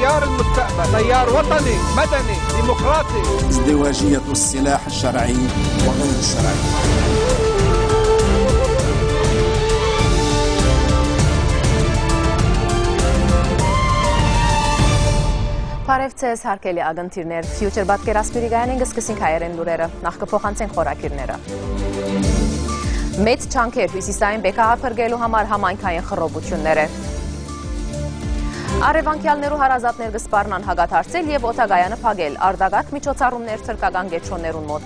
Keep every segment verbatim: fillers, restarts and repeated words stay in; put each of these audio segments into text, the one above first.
تيار المستقبل، تيار وطني، مدني، ديمقراطي. ازدواجية السلاح الشرعي وغير الشرعي. Բարեւ ձեզ, հարգելի ակնթիրներ։ Future պատկերասփիւռի գայանէն կը սկսենք հայերէն լուրերը։ Նախ կը փոխանցենք խորագիրները։ Մեծ ջանքեր հիւսիսային բեկահար փրկելու համար համայնքային խռովութիւնները։ Առեւանգեալներու հարազատներ կը սպառնան հակադարձել եւ օդակայանը փակել, արտակարգ միջոցառումներ թրքական կեդրոններուն մօտ։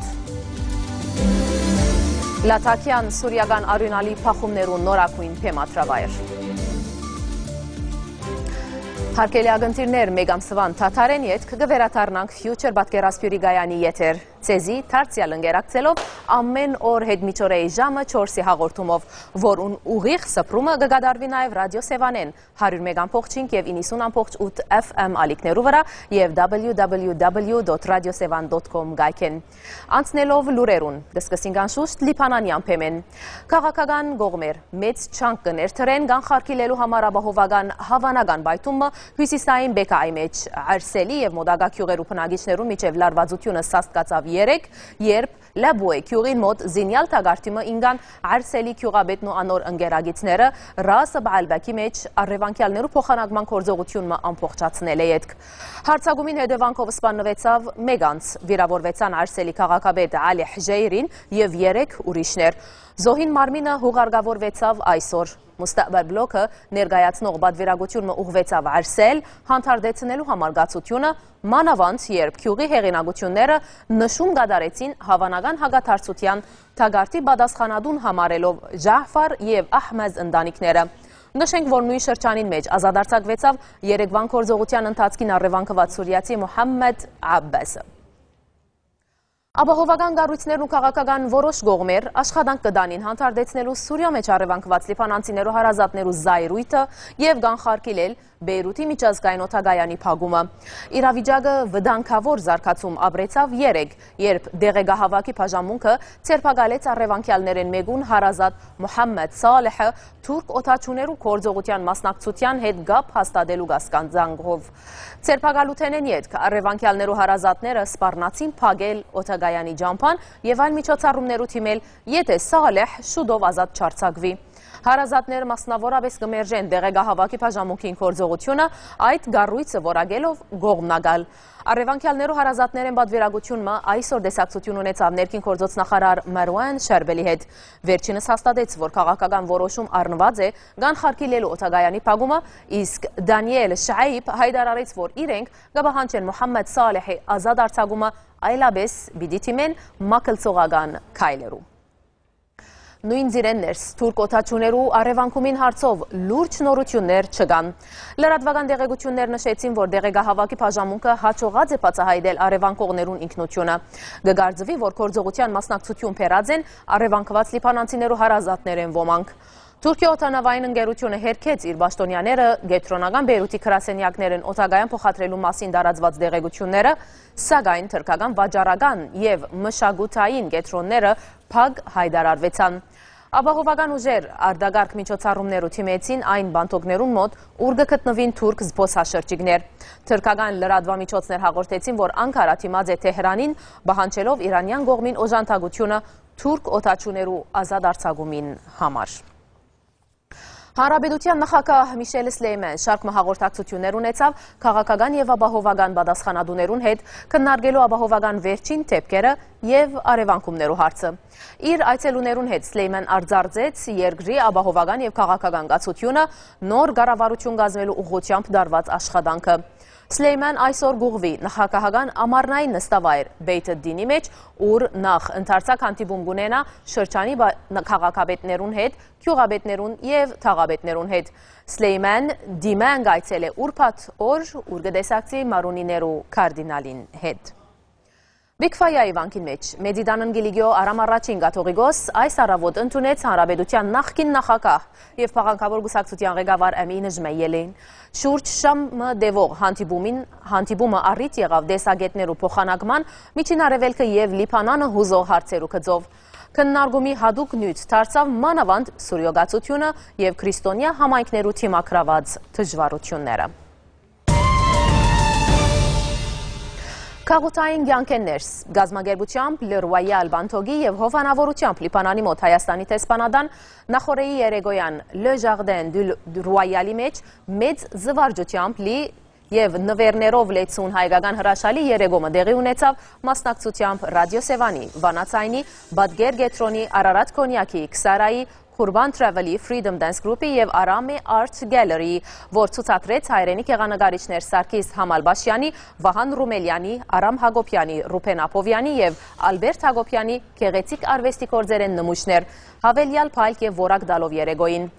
Լաթաքեան սուրիական արիւնալի բախումներու նորագոյն բեմադրավայր։ Հարգելի ակնթիրներ, մէկ ամսուան դադարէն ետք կը վերադառնանք Future պատկերասփիւռի գայանի եթեր։ Ձեզի դարձեալ ընկերակցելով ամէն օր յետ միջօրեի ժամը չորսի հաղորդումով, որուն ուղիղ սփռումը կը կատարուի նաեւ Ռադիօ Սեւանէն, հարիւր մէկ ամբողջ հինգ եւ իննսուն ամբողջ ութ F M ալիքներու վրայ եւ W W W dot radiosevan dot com կայքէն։ Անցնելով լուրերուն, կը սկսենք անշուշտ լիբանանեան բեմէն։ Քաղաքական կողմեր մեծ ջանք կը ներդրեն կանխարգիլելու համար ապահովական հաւանական պայթումը հիւսիսային Բեկայի մէջ։ Արսելի եւ մոտակայ գիւղերու բնակիչներուն միջեւ լարուածութիւնը սաստկացաւ երեկ, երբ Լաբուէ գիւղին մօտ զինեալ թակարդի մը ինկան Արսելի գիւղապետն ու անոր ընկերագիծները Ռաս Բալբակի մէջ առեւանգեալներու փոխանակման գործողութիւն մը ամբողջացնելէ ետք։ Յարձակումին հետեւանքով սպաննուեցաւ մէկ անձ, վիրաւորուեցան Արսելի քաղաքապետ Ալի Հժեյրին եւ երեք ուրիշներ։ Զոհին մարմինը յուղարկաւորուեցաւ այսօր։ Մուստակբալ բլոքը ներկայացնող պատվիրակութիւն մը ուղղուեցաւ Արսել հանդարտեցնելու համար կացութիւնը, մանաւանդ երբ գիւղի հեղինակութիւնները նշում կատարեցին հաւանական հակադարձութեան թակարդի պատասխանատուն համարելով Ժահֆար եւ Ահմեզ ընտանիքները։ Նշենք, որ նոյն շրջանին մէջ ազատ արձակուեցաւ երեկվան գործողութեան ընթացքին առեւանգուած սուրիացի Մուհամմեդ Աբբասը։ Ապահովական կառոյցներն ու քաղաքական որոշ կողմեր աշխատանք կը տանին հանդարտեցնելու Սուրիոյ մէջ առեւանգուած լիբանանցիներու հարազատներու զայրոյթը եւ կանխարգիլել Բեյրութի միջազգային օդակայանի փակումը։ Իրավիճակը վտանգաւոր զարգացում ապրեցաւ երեկ, երբ տեղեկահաւաքի բաժանմունքը ձերբակալեց առեւանգեալներէն մէկուն հարազատ Մուհամմեդ Սալեհը թուրք օդաչուներու գործողութեան մասնակցութեան հետ կապ հաստատելու կասկածանքով։ Ձերբակալութենէն ետք առեւանգեալներու հարազատները սպառնացին փակել օդակայանի ճամբան եւ այլ միջոցառումներու դիմել, եթէ Սալեհ շուտով ազատ չարձակուի։ Հարազատները մասնաւորապէս կը մերժեն տեղեկահաւաքի բաժանմունքին գործողութիւնը, այդ կառոյցը որակելով կողմնակալ։ Առեւանգեալներու հարազատներէն պատվիրակութիւն մը այսօր տեսակցութիւն ունեցաւ ներքին գործոց նախարար Մարուան Շարբելի հետ։ Վերջինս հաստատեց, որ քաղաքական որոշում առնուած է կանխարգիլելու օդակայանի փակումը, իսկ Դանիել Շայիբ յայտարարեց, որ իրենք կը պահանջեն Մուհամմեդ Սալեհի ազատ արձակումը, այլապէս պիտի դիմեն մագլցողական քայլերու։ Նոյն ծիրէն ներս թուրք օդաչուներու առեւանգումին հարցով լուրջ նորութիւններ չկան։ Լրատուական տեղեկութիւններ նշեցին, որ տեղեկահաւաքի բաժանմունքը յաջողած է բացահայտել առեւանգողներուն ինքնութիւնը։ Կը կարծուի, որ գործողութեան մասնակցութիւն բերած են առեւանգուած լիբանանցիներու հարազատներէն ոմանք։ Թուրքիոյ օդանաւային ընկերութիւնը հերքեց իր պաշտօնեաները կեդրոնական Բեյրութի գրասենեակներէն օդակայան փոխադրելու մասին տարածուած տեղեկութիւնները, սակայն թրքական վաճառական եւ մշակութային կեդրոնները փակ յայտարարուեցան։ Ապահովական ուժեր արտակարգ միջոցառումներու դիմեցին այն բանթօքներուն մօտ, ուր կը գտնուին թուրք զբօսաշրջիկներ։ Թրքական լրատուամիջոցներ հաղորդեցին, որ Անկարա դիմած է Թեհրանին, պահանջելով իրանեան կողմին օժանդակութիւնը թուրք օդաչուներու ազատ արձակումին համար։ Հանրապետութեան նախագահ Միշել Սլեյմեն շարք մը հաղորդակցութիւններ ունեցաւ քաղաքական եւ ապահովական պատասխանատուներուն հետ, քննարկելու ապահովական վերջին դէպքերը եւ առեւանգումներու հարցը։ Իր այցելուներուն հետ Սլեյմեն արձարծեց երկրի ապահովական եւ քաղաքական կացութիւնը նոր կառավարութիւն կազմելու ուղղութեամբ տարուած աշխատանքը։ Սլեյմեն այսօր կուղղուի նախագահական ամառնային նստավայր Բեյթ Դինի մէջ, ուր նախ ընդարձակ հանդիպում կունենայ շրջանի բա-, ն-, քաղաքապետներուն հետ, գիւղապետներուն եւ թաղապետներուն հետ։ Սլեյմեն դիմեն կայցելէ ուրբաթ օր, ուր կը տեսակցի մարոնիներու կարդինալին հետ։ Բիգֆայայի վանքին մէջ Մեծի Տանն Կիլիկիոյ Արամ Առաջին կաթողիկոս այս առավոտ ընդունեց հանրապետութեան նախկին նախագահ եւ փաղաքնաւոր կուսակցութեան ղեկավար Էմին Ժմեյելին։ Շուրջ ժամ մը տեւող հանդիպումին, հանդիպումը առիթ եղաւ տեսակէտներու փոխանակման, Միջին Արեւելքը եւ Լիբանանը յուզող հարցերու գծով։ Քննարկումի յատուկ նիւթ դարձաւ մանաւանդ Սուրիոյ կացութիւնը եւ քրիստոնեայ համայնքներու դիմագրաւած դժուարութիւնները։ Գաղութային կեանքէն ներս, կազմակերպութեամբ Լը Ռուայալ Բանթոգի եւ հովանաւորութեամբ Լիբանանի մօտ Հայաստանի դեսպանատան նախօրեի երեկոյեան Լը Ժաղդեն Դուլ Ռուայալի մէջ մեծ զվարճութեամբ լի եւ նուէրներով լեցուն հայկական հրաշալի երեկոյը տեղի ունեցաւ մասնակցութեամբ Ռադիո Սեւանի, Վանաձայնի, Պատկեր կեդրոնի, Արարատ Քոնեակի, Քսարայի, Ղուրբան Travel-ի, Freedom Dance Group-ի եւ Արամի Art Gallery-ի, որ ցուցադրեց հայերէնի գեղանկարիչներ Սարգիս Համալբաշեանի, Վահան Ռումելեանի, Արամ Յակոբեանի, Ռուբեն Աբովեանի եւ Ալբերտ Յակոբեանի գեղեցիկ արուեստի գործերէն նմուշներ, յաւելեալ փայլք եւ որակ տալով երեկոյին։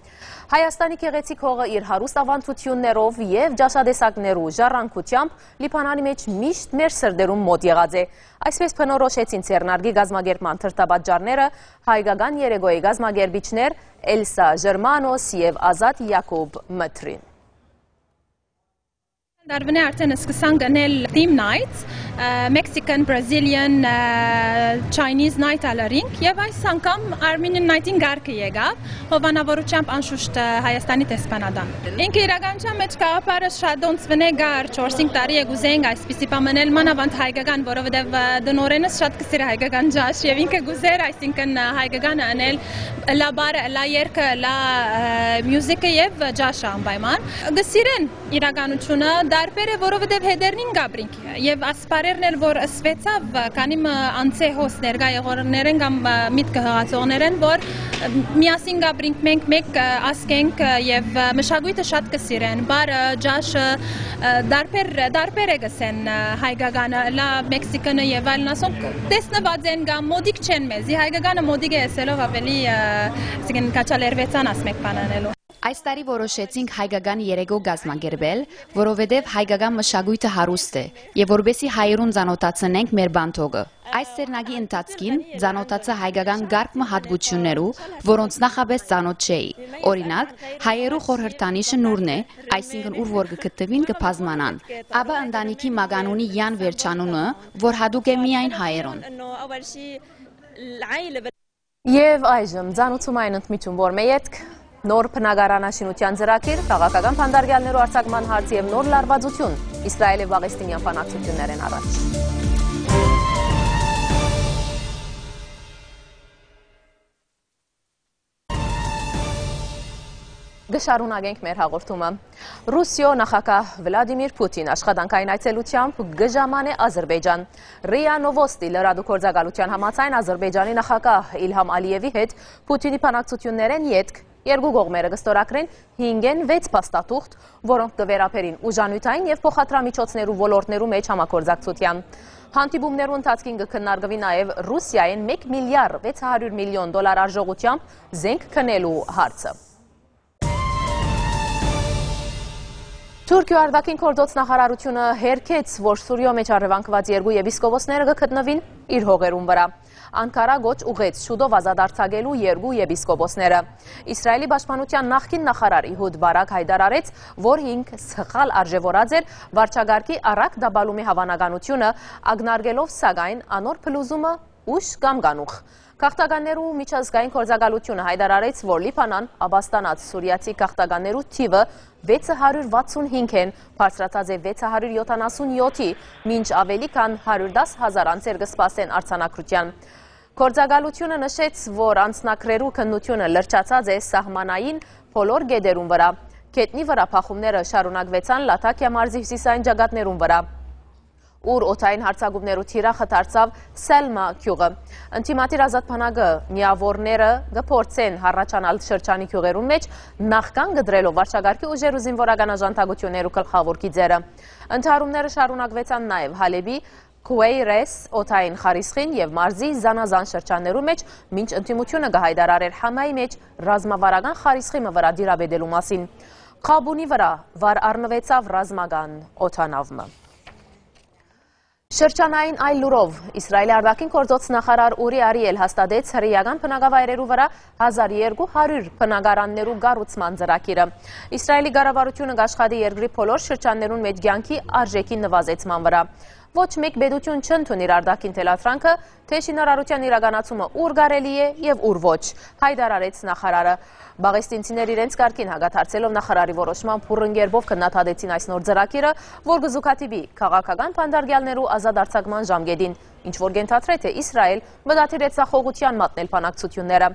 Հայաստանի գեղեցիկ հողը իր հարուստ աւանդութիւններով եւ ճաշատեսակներու ժառանգութեամբ Լիբանանի մէջ միշտ մեր սրտերուն մօտ եղած է։ Այսպէս բնորոշեցին ձեռնարկի կազմակերպման դրդապատճառները հայկական երեկոյի կազմակերպիչներ Էլսա Ժերմանոս եւ Ազատ Յակոբ Մթրին։ Դարբնէ արդեն սկսանք ընել theme nights, ը, Mexican, Brazilian, ը, Chinese night ալարինք եւ այս անգամ Armenian night-ին գարկը եկաւ, հովանավորությամբ անշուշտ, ը, Հայաստանի դեսպանատան։ Ինքը իրականության մեջ գաղափարը շատ ոնց վնե կար, չորս-հինգ տարի է կուզենք այսպիսի բան մնել, մանավանդ հայկական, որովհետեւ, ը, տնօրենս շատ կսիրի հայկական ջաշ եւ ինքը կուզեր, այսինքն, ը, հայկականը ընել, լա բարը, լա երգը, լա, ը, մյուզիքը եւ ջաշը անպայման։ Կսիրեն իրականությունը, դարբեր է, որովհետեւ հետերնին կապրինք եւ ասպարերն էլ որ ըսվեցաւ, քանի մը անցե հոս ներկայ եղողներեն կամ, ը, միտքը հղացողներեն, որ, ը, միասին կապրինք մենք, մեկ, ը, ազգ ենք, ը, եւ, ը, մշակոյթը շատ կսիրեն, բարը, ջաշը, ը, դարբեր, դարբեր է կսեն, ը, հայկականը, լա մեքսիկանը եւ այլն, ասոնք տեսնված են կամ մոդիկ չեն մեզի, հայկականը մոդիկ է եսելով ավելի, ը, այսինքն քաչալերվեցան ասմեկ բան անելու։ Այս տարի որոշեցինք հայկական երեկո կազմակերպել, որովհետև հայկական մշակույթը հարուստ է, և որպեսզի հայերուն ծանոթացնենք մեր բանթոգը։ Այս ձեռնակի ընթացքին ծանոթացա հայկական կարգ մը հատկություններու, որոնց նախապես ծանոթ չէի։ Օրինակ, հայերու խորհրդանիշը նուրն է, այսինքն ուր որ կգտնուին կբազմանան։ Ապա ընտանիքի մականունի յան վերջանունը, որ հատուկ է միայն հայերուն։ Եվ այժմ ծանուցում այն ընդմիջում, որ մը ետք նոր բնակարանաշինության ծրագիր, քաղաքական փանդարգեալներու արձակման հարց և նոր լարվածություն Իսրայել և Պաղեստինյան բանակցություններէն առաջ։ Կը շարունակենք մեր հաղորդումը։ Ռուսիոյ նախագահ Վլադիմիր Պուտին աշխատանքային այցելութեամբ կը ժամանէ Ազրպէյճան։ րիա Նովոստի լրատու գործակալության համաձայն, Ազրպէյճանի նախագահ Իլհամ Ալիևի հետ Պուտինի բանակցություններէն ետք երկու կողմերը կը ստորագրեն հինգէն վեց փաստաթուղթ, որոնք կը վերաբերին ուժանիւթային եւ փոխադրամիջոցներու ոլորտներու մէջ համագործակցութեան։ Հանդիպումներու ընթացքին կը քննարկուի նաեւ Ռուսիայէն մէկ միլիարդ վեց հարիւր միլիոն դոլար արժողութեամբ զենք գնելու հարցը։ Թուրքիոյ արտաքին գործոց նախարարութիւնը հերքեց, որ Սուրիոյ մէջ առեւանգուած երկու եպիսկոպոսները կը գտնուին իր հողերուն վրա։ Անկարա կոչ ուղղեց շուտով ազատ արձակելու երկու եպիսկոպոսները։ Իսրայելի պաշտպանության նախկին նախարար Իհուդ Բարակ հայտարարեց, որ ինք սխալ արժեւորած էր վարչակարգի առակ տապալումի հաւանականութիւնը, ակնարկելով սակայն անոր փլուզումը ուշ կամ կանուխ։ Գաղթականներու միջազգային գործակալութիւնը հայտարարեց, որ Լիբանան ապաստանած սուրիացի գաղթականներու թիւը վեց հարիւր վաթսուն հինգ են, բարձրացած է վեց հարիւր յոթանասուն յոթի, մինչ ավելի քան հարիւր տաս հազար անձեր կը սպասեն արձանագրութեան։ Գործակալութիւնը նշեց, որ անձնակրերու քննութիւնը լրջացած է սահմանային բոլոր գետերուն վրա։ Գետնի վրա բախումները շարունակուեցան Լաթաքիա մարզի հիւսիսային ճակատներուն վրա, ուր օդային հարձակումներու թիրախը դարձաւ Սելմա գիւղը։ Ընդդիմադիր ազատ բանակը միաւորները կը փորձեն հառաչանալ շրջանի գիւղերուն մէջ, նախքան կտրելով վարչակարգի ուժերու զինուորական աժանթակութիւններու գլխաւոր գիծերը։ Ընդհարումները շարունակուեցան նաեւ Հալէպի Քուէյրես օդային խարիսխին եւ մարզի զանազան շրջաններու մէջ, մինչ ընդդիմութիւնը կը հայտարարէր Համայի մէջ ռազմավարական խարիսխի մը վրայ դիրապետելու մասին։ Խաբունի վրայ վար առնուեցաւ ռազմական օդանաւ մը։ Շրջանային այլ լուրով, Իսրայելի արտաքին գործոց նախարար Ուրի Արիել հաստատեց հրեական բնակավայրերու վրա հազար երկու հարիւր բնակարաններու կառուցման ծրագիրը։ Իսրայելի կառավարութիւնը կաշխատի երկրի բոլոր շրջաններուն մէջ կեանքի արժեքի նվազեցման վրա։ Ոչ մէկ պետութիւն չընդունիր արտաքին թելադրանքը, թէ շինարարութեան իրականացումը ուր կարելի է եւ ուր ոչ, հայտարարեց նախարարը։ Պաղեստինցիներ իրենց կարգին հակադարձելով նախարարի որոշման բուռն կերպով քննադատեցին այս նոր ծրագիրը, որ կը զուգադիպի քաղաքական բանտարկեալներու ազատ արձակման ժամկետին, ինչ որ կ'ենթադրէ, թէ Իսրայէլ մտադիր է ձախողութեան մատնել բանակցութիւնները։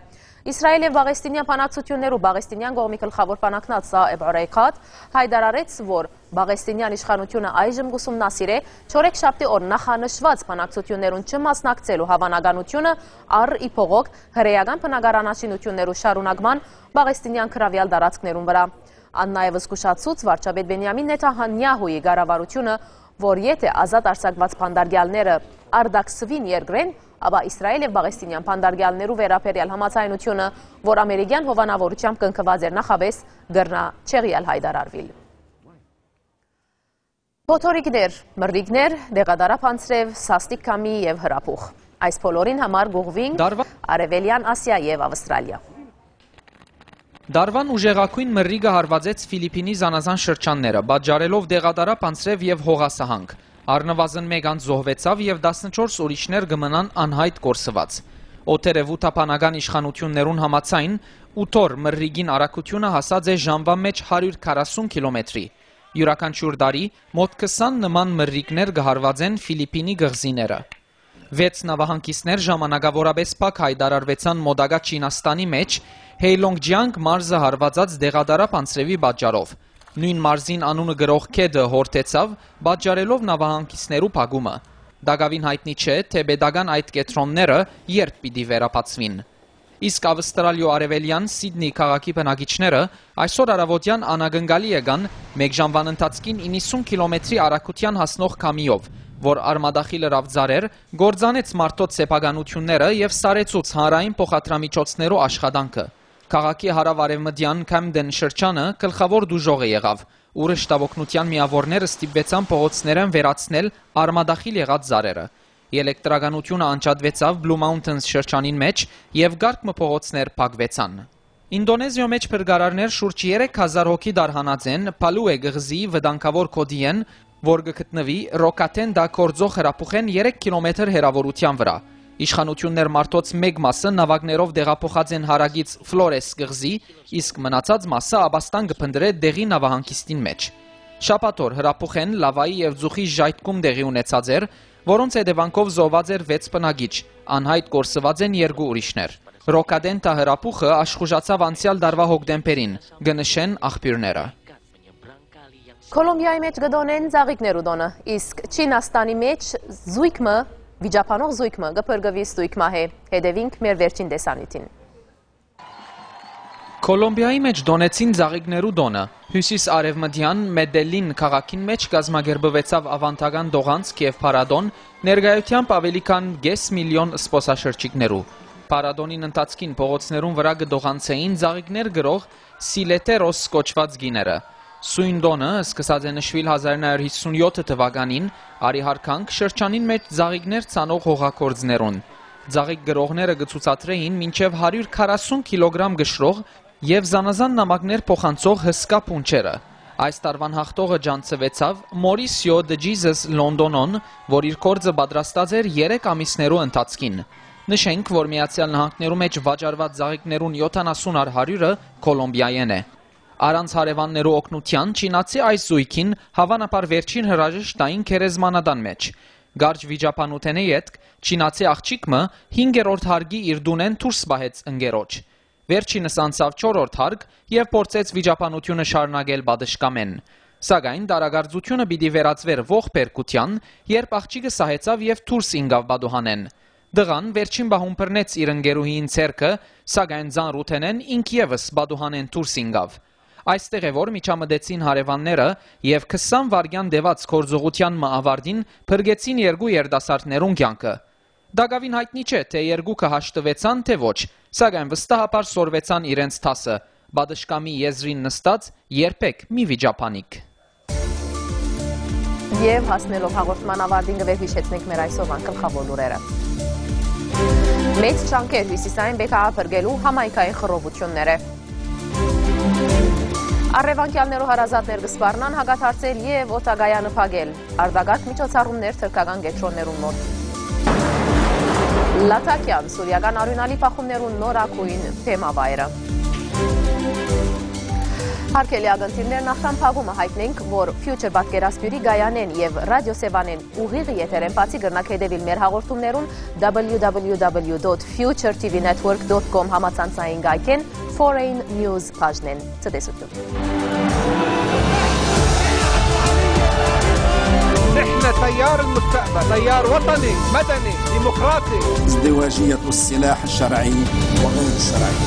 Իսրայէլ եւ պաղեստինեան բանակցութիւններու պաղեստինեան կողմի գլխաւոր բանակնաց Սաեբ Օրեյքաթ հայտարարեց, որ պաղեստինեան իշխանութիւնը այժմ կ'ուսումնասիրէ չորեքշաբթի օր նախանշուած բանակցութիւններուն չմասնակցելու հաւանականութիւնը առ ի փողոք հրեական բնակարանաշինութիւններու շարունակման պաղեստինեան գրաւեալ տարածքներուն վրայ։ Ան նաեւ զգուշացուց վարչապետ Բենիամին Նեթանյահուի կառավարութիւնը, որ եթէ ազատ արձակուած բանտարկեալները արտաքսուին երկրէն, ապա Իսրայէլ եւ պաղեստինեան բանտարկեալներու վերաբերեալ համաձայնութիւնը, որ ամերիկեան հովանաւորութեամբ կնքուած էր նախապէս, կրնայ չեղեալ հայտարարուիլ։ Փոթորիկներ, մրրիկներ, դեղատարափ անձրեւ, սաստիկ քամի եւ հրապուխ։ Այս բոլորին համար կ'ուղղուինք Դարվա- Արեւելեան Ասիա եւ Ավստրալիա։ Դարուան ուժեղագոյն մրրիկը հարուածեց Ֆիլիպինի զանազան շրջանները, պատճառելով դեղատարափ անձրեւ եւ հողասահանք։ Առնուազն մէկ անձ զոհուեցաւ եւ տասնչորս ուրիշներ կը մնան անյայտ կորսուած։ Օթերեւութաբանական իշխանութիւններուն համաձայն, ութ օր մրրիկին արագութիւնը հասած է ժամուան մէջ հարիւր քառասուն կիլոմետրի։ Իւրաքանչիւր տարի մօտ քսան նման մրրիկներ կը հարուածեն Ֆիլիպինի կղզիները։ Վեց նաւահանգիստներ ժամանակաւորապէս փակ հայտարարուեցան մօտակայ Չինաստանի մէջ Հեյլոնգ Ջիանգ մարզը հարուածած դեղատարափ անձրեւի պատճառով։ Նոյն մարզին անունը կրող գետը յորդեցաւ, պատճառելով նաւահանգիստներու փակումը։ Տակաւին յայտնի չէ, թէ պետական այդ կեդրոնները երբ պիտի վերաբացուին։ Իսկ Ավստրալիոյ արեւելեան Սիդնի քաղաքի բնակիչները այսօր առաւօտեան անակնկալի եկան մէկ ժամուան ընթացքին իննսուն կիլոմետրի արագութեան հասնող քամիով, որ արմատախիլ ըրաւ ծառեր, կործանեց մարդոց սեփականութիւնները եւ սառեցուց հանրային փոխադրամիջոցներու աշխատանքը։ Քաղաքի հարաւարեւմտեան Քեմդեն շրջանը գլխաւոր դուժողը եղաւ, ուր շտապօգնութեան միաւորները ստիպուեցան փողոցներէն վերացնել արմատախիլ եղած ծառերը։ Ելեկտրականութիւնը անջատուեցաւ Բլու Մաունթընս շրջանին մէջ եւ կարգ մը փողոցներ փակուեցան։ Ինտոնեզիոյ մէջ փրկարարներ շուրջ երեք հազար հոգի դարհանած են Փալուէ կղզի վտանգաւոր գօտիէն, որ կը գտնուի Ռոքաթենտա կորձող հրապուխէն երեք կիլոմեթր հեռաւորութեան վրայ։ Իշխանութիւններ մարդոց մէկ մասը նաւակներով տեղափոխած են հարակից Ֆլորես կղզի, իսկ մնացած մասը ապաստան կը փնտռէ դեղի նաւահանգիստին մէջ։ Շաբաթօր հրապուխէն լավայի եւ ձուխի ժայթքում տեղի ունեցած էր, որոնց հետեւանքով զոհուած էր վեց բնակիչ, անյայտ կորսուած են երկու ուրիշներ։ Ռոքադենտա հրապուխը աշխուժացաւ անցեալ տարուայ հոկտեմբերին, կը նշեն աղբիւրները։ Կոլումբիայի մէջ կը տօնեն ծաղիկներու տօնը, իսկ Չինաստանի մէջ զոյգ մը, վիճաբանող զոյգ մը կը փրկուի ստոյգ մահէ։ Հետեւինք մեր վերջին տեսանիւթին։ Կոլումբիայի մէջ տօնեցին ծաղիկներու տօնը։ Հիւսիս արեւմտեան Մեդելին քաղաքին մէջ կազմակերպուեցաւ աւանդական տողանցք եւ փառատօն, ներկայութեամբ աւելի քան կէս միլիոն զբօսաշրջիկներու։ Փառատօնին ընթացքին փողոցներուն վրայ կը տողանցէին ծաղիկներ կրող Սիլետերոս կոչուած կիները։ Սոյն տօնը սկսած է նշուիլ հազար նոյ հարիւր յիսուն յոթ թուականին, արի յարգանք շրջանին մէջ ծաղիկներ ցանող հողագործներուն։ Ծաղիկ կրողները կը ցուցադրէին մինչեւ հարիւր քառասուն կիլոգրամ կշռող եւ զանազան նամակներ փոխանցող հսկայ փունջերը։ Այս տարուան յաղթողը ճանչցուեցաւ Մորիսիո դը Ջիզես Լոնտոնոն, որ իր գործը պատրաստած էր երեք ամիսներու ընթացքին։ Նշենք, որ Միացեալ Նահանգներու մէջ վաճառուած ծաղիկներուն յոթանասուն առ հարիւրը Կոլումբիայէն է։ Առանց հարեւաններու օգնութեան, չինացի այս զոյգին հաւանաբար վերջին հրաժեշտ տային գերեզմանատան մէջ։ Կարճ վիճաբանութենէ ետք, չինացի աղջիկ մը հինգերորդ հարկի իր տունէն դուրս պահեց ընկերոջ։ Վերջինս անցաւ չորրորդ հարկ եւ փորձեց վիճաբանութիւնը շարունակել պատշգամէն։ Սակայն տարակարծութիւնը պիտի վերածուէր ողբերգութեան, երբ աղջիկը սահեցաւ եւ դուրս ինկաւ պատուհանէն։ Տղան վերջին պահուն բռնեց իր ընկերուհիին ձեռքը, սակայն ծանրութենէն ինք եւս պատուհանէն դուրս ինկաւ։ Այստեղ է, որ միջամտեցին հարեւանները եւ քսան վայրկեան տեւած գործողութեան մը աւարտին փրկեցին երկու երիտասարդներուն կեանքը։ Տակաւին յայտնի չէ, թէ երկուքը հաշտուեցան, թէ ոչ, սակայն վստահաբար սորվեցան իրենց դասը. պատշգամի եզրին նստած երբեք մի վիճաբանիք։ Եւ հասնելով հաղորդման աւարտին, կը վերհիշեցնենք մեր այսօրվան գլխաւոր լուրերը։ Մեծ ջանքեր հիւսիսային Բեքայ փրկելու համայնքային խռովութիւնները։ Առեւանգեալներու հարազատներ կը սպառնան հակադարձել եւ օդակայանը փակել։ Արտակարգ միջոցառումներ թրքական կեդրոններուն մօտ։ Լաթաքեան, սուրիական արիւնալի բախումներուն նորագոյն թեմավայրը։ Հարգելի ակնթիռներ, նախքան փակումը յայտնենք, որ Future պատկերասփիւռի կայանէն եւ ռադիոսեւանէն ուղիղ եթերէն բացի կրնաք հետեւիլ մեր հաղորդումներուն W W W dot future T V network dot com համացանցային կայքէն, Foreign News բաժնէն։ Ցտեսութիւն։ نحن تيار المستقبل، تيار وطني، مدني، ديمقراطي. ازدواجية السلاح الشرعي وغير الشرعي.